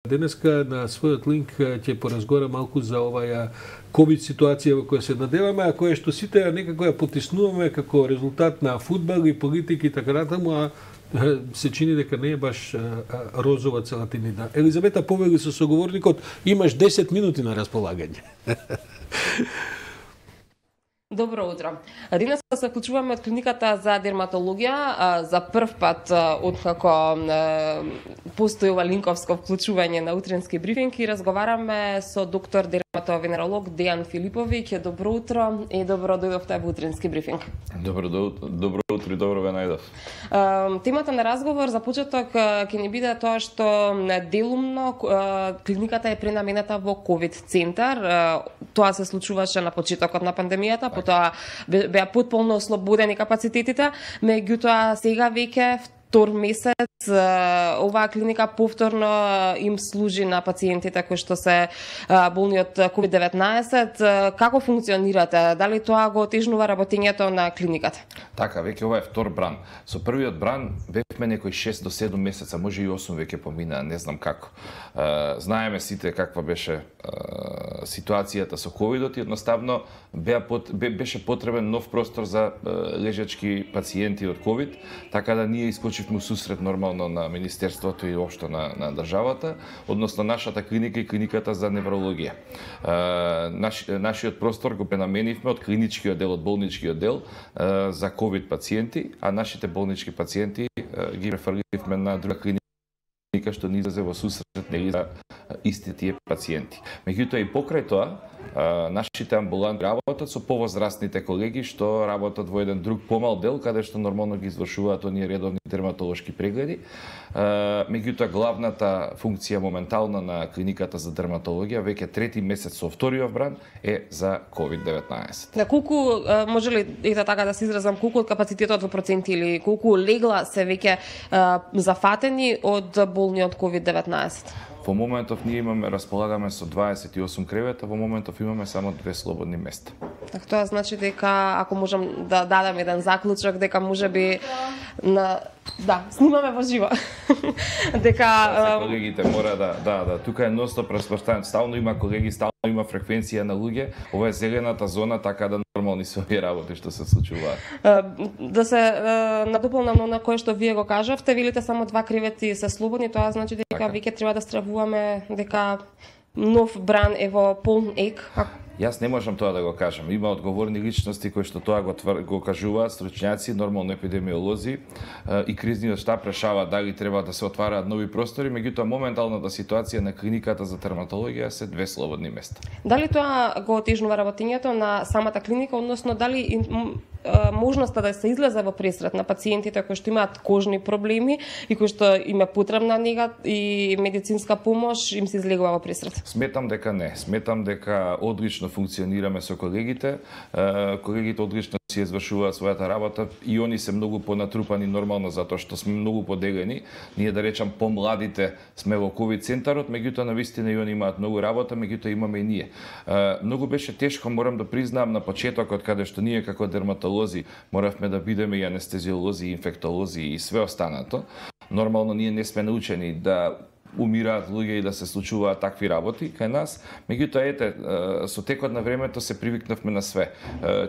Денеска на својот линк ќе поразговара малку за оваа ковид ситуација во која се надеваме, а која што сите некако ја потиснуваме како резултат на фудбал и политики и така натаму, а се чини дека не е баш розова целата нина. Елизавета повели со соговорникот, имаш 10 минути на располагање. Добро утро. Денес се вклучуваме од клиниката за дерматологија. За прв пат откако постои ова линковско вклучување на утренски брифинг и разговараме со доктор дерматовенеролог Дејан Филиповиќ. Добро утро и добро дојдовте во утренски брифинг. Добро утро и добро ве најдов. Темата на разговор за почеток ќе ни биде тоа што делумно клиниката е пренамената во ковид центар. Тоа се случуваше на почетокот на пандемијата, потоа беа потполно ослободени капацитетите, меѓутоа сега веќе втор месец оваа клиника повторно им служи на пациентите кои што се болни од COVID-19. Како функционирате? Дали тоа го отежнува работењето на клиниката? Така, веќе ова е втор бран. Со првиот бран бевме некои 6 до 7 месеца, може и 8 веќе помина, не знам како. Знаеме сите каква беше ситуацијата со ковидот и едноставно беше потребен нов простор за лежачки пациенти од ковид, така да ние искочивме у сусрет нормално на Министерството и општо на државата, односно нашата клиника и клиниката за неврологија. Нашиот простор го пренаменивме од клиничкиот дел, од болничкиот дел за ковид пациенти, а нашите болнички пациенти ги префрливме на друга клиника што ни излезе во сусрет нели за исти тие пациенти. Меѓутоа и покрај тоа, нашите амбуланти работат со повозрастните колеги што работат во еден друг помал дел каде што нормално ги извршуваат оние редовни дерматолошки прегледи. Меѓутоа главната функција моментална на клиниката за дерматологија веќе трети месец со вториот бран е за COVID-19. На колку може ли така да се изразам, колку од капацитетот во проценти или колку легла се веќе зафатени од болни од COVID-19? Во моментов ние располагаме со 28 кревета, во моментов имаме само 2 слободни места. Так тоа значи дека ако можам да дадам еден заклучок дека можеби снимаме во живо. Дека колегите мора тука е ностоп распоставен, стално има колеги, стално има фреквенција на луѓе, ова е зелената зона, така да нормални се овие работи што се случуваат. Да се надополнам на кое што вие го кажавте, велите само 2 кревети се слободни, тоа значи дека веќе треба да стравуваме дека нов бран е во полн ек. Јас не можам тоа да го кажам. Има одговорни личности кои што тоа го кажуваат, стручњаци, нормално епидемиолози и кризниот штаб решава дали треба да се отвараат нови простори, меѓутоа моменталната ситуација на клиниката за дерматологија се 2 слободни места. Дали тоа го отежнува работењето на самата клиника, односно дали можноста да се излезе во пресрет на пациентите кои што имаат кожни проблеми и кои што им е потребна нега и медицинска помош, им се излегува во пресрет? Сметам дека не. Сметам дека одлично функционираме со колегите. Колегите одлично си извршуваат својата работа и они се многу понатрупани нормално затоа што сме многу поделени. Ние да речам помладите сме во ковид центарот, меѓутоа навистина и они имаат многу работа, меѓутоа имаме и ние. Многу беше тешко, морам да признаам на почетокот каде што ние како дерматолози моравме да бидеме и анестезиолози, и инфектолози и све останато. Нормално ние не сме научени да умираат луѓе и да се случуваат такви работи кај нас. Меѓутоа со текот на времето се привикнавме на све.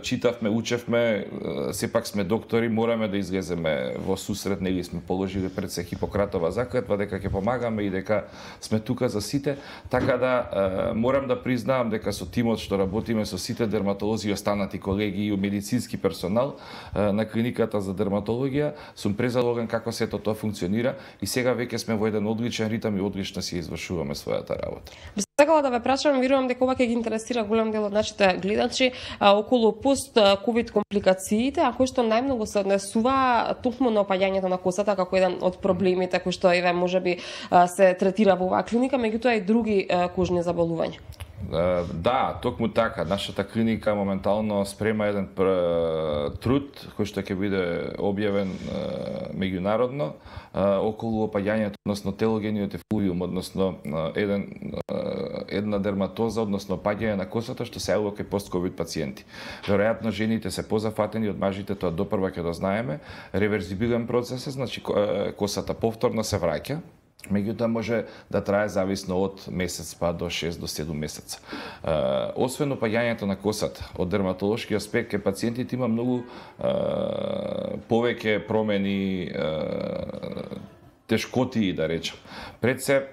Читавме, учевме, сепак сме доктори, мораме да излеземе во сусрет, нели сме положили пред се Хипократова заклетва дека ќе помагаме и дека сме тука за сите, така да морам да признаам дека со тимот што работиме со сите дерматолози и останати колеги и медицински персонал на клиниката за дерматологија сум презалоган како сето тоа функционира и сега веќе сме во еден одличен ритам и одлично си извршуваме својата работа. Би сакала да ве прашам, верувам дека ова ќе ги интересира голем дел од нашите гледачи околу пост-ковид компликациите, а кои што најмногу се однесува токму на опаѓањето на косата како еден од проблемите кои што можеби се третира во оваа клиника, меѓутоа и други кожни заболувања. Да, токму така. Нашата клиника моментално спрема еден труд кој што ќе биде објавен меѓународно околу опаѓањето, односно телогениот ефлуиум, односно една дерматоза, односно опаѓање на косата што се јавува кај пост-ковид пациенти. Веројатно жените се позафатени од мажите, тоа допрва ќе да знаеме. Реверзибилен процес е, значи косата повторно се враќа Меѓутоа може да трае зависно од месец па до 6 до 7 месеца. Освен опаѓањето на косата, од дерматолошки аспект, кај пациентите има многу повеќе промени, тешкотии, да речем. Пред се,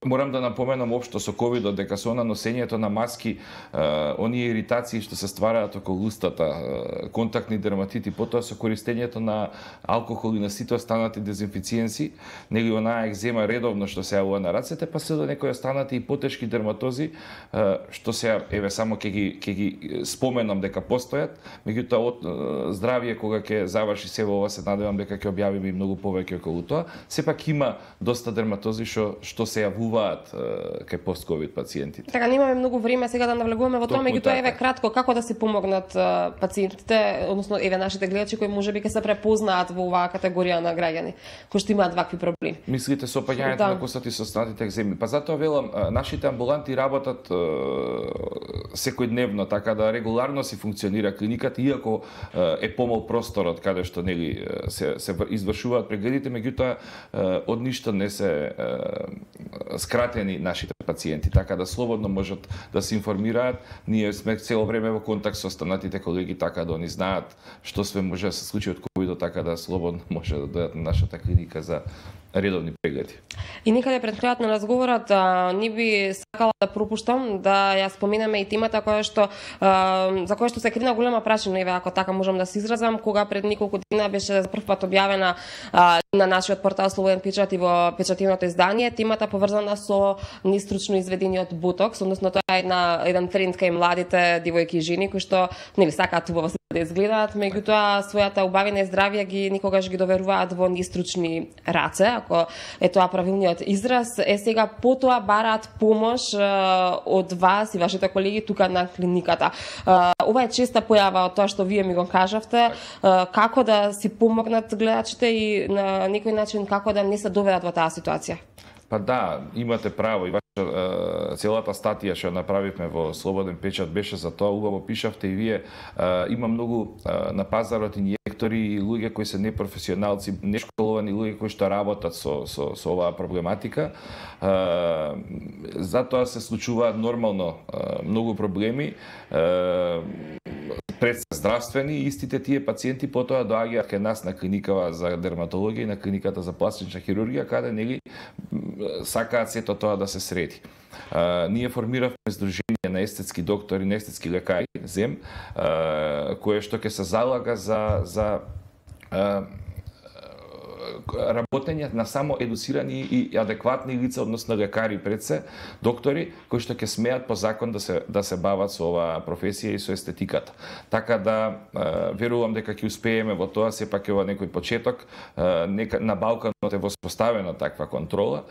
морам да напоменам општо со ковидот дека со носењето на маски, оние иритации што се ствараат околу устата, контактни дерматити, потоа со користењето на алкохол и на сите останати дезинфициенси, нели онаа екзема редовно што се јавува на рацете, па се до некои останати и потешки дерматози, што се еве само ќе ги споменам дека постојат, меѓутоа од здравје кога ќе заврши се ова, се надевам дека ќе објавиме и многу повеќе околу тоа. Сепак има доста дерматози што се јавуваат кај пост-ковид пациентите. Така, немаме многу време сега да навлегуваме во тоа, меѓутоа еве кратко како да си помогнат пациентите, односно еве нашите гледачи кои можеби ќе се препознаат во оваа категорија на граѓани кои што имаат вакви проблеми. Мислите со опаѓањето на косата и со останатите екземи? Па затоа велам, нашите амбуланти работат секојдневно, така да регуларно си функционира клиниката, иако е помал просторот каде што нели се извршуваат прегледите, меѓутоа од ништо не се скратени нашите пациенти, така да слободно можат да се информираат. Ние сме цело време во контакт со останатите колеги, така да они знаат што све може да се случи од ковидот, така да слободно може да дојдат на нашата клиника за редовни прегледи. И некаде пред крајот на разговорот не би сакала да пропуштам да ја споменеме и темата за која што се крина голема прашина, еве ако така можам да се изразам, кога пред неколку дена беше за прв пат објавена на нашиот портал Слободен печат и во печативното издание, темата поврзана со нестручно изведениот ботокс, односно тоа е еден тренд кај младите девојки и жени кои што нели сакаат убаво да изгледаат, меѓутоа својата убавина и здравје никогаш ги доверуваат во нестручни раце, ако е тоа правилниот израз. Сега потоа бараат помош од вас и вашите колеги тука на клиниката. Ова е честа појава од тоа што вие ми го кажавте, како да си помогнат гледачите и на некој начин како да не се доведат во таа ситуација. Па да, имате право и целата статија што направивме во Слободен печат беше за тоа, убаво пишавте и вие. Има многу на пазарот инјектори и луѓе кои се непрофесионалци, нешколовани луѓе кои што работат со оваа проблематика. Затоа се случуваат нормално многу проблеми. Пред здравствени, истите тие пациенти потоа доаѓаат кај нас на клиникава за дерматологија и на клиниката за пластична хирургија, каде нели сакаат сето тоа да се среди. Ние формиравме Сдружение на естетски доктори, на естетски лекари, ЗЕМ, кое што ќе се залага за работење на само едуцирани и адекватни лица, односно лекари пред се, доктори, кои што ќе смеат по закон да се бават со оваа професија и со естетиката. Така да верувам дека ќе успееме во тоа, сепак е ова некој почеток, на Балканот е воспоставена таква контрола,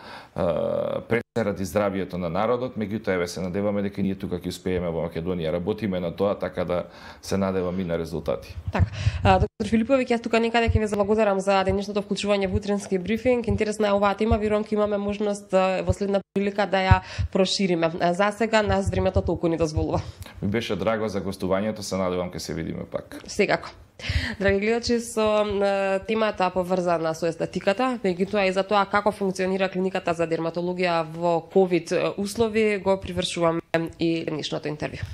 пред се ради здравјето на народот, меѓутоа еве се надеваме дека ние тука ќе успееме во Македонија, работиме на тоа, така да се надевам и на резултати. Така, доктор Филиповиќ, јас тука некаде ќе ве заблагодарам за денешното вклучување во утренски брифинг. Интересна е оваа тема, верувам ќе имаме можност во следна прилика да ја прошириме. За сега нас времето толку ни дозволува. Ми беше драго за гостувањето, се надевам ќе се видиме пак. Секако. Драги гледачи, со темата поврзана со естетиката, меѓутоа и за тоа како функционира клиниката за дерматологија во ковид услови, го привршуваме и денешното интервју.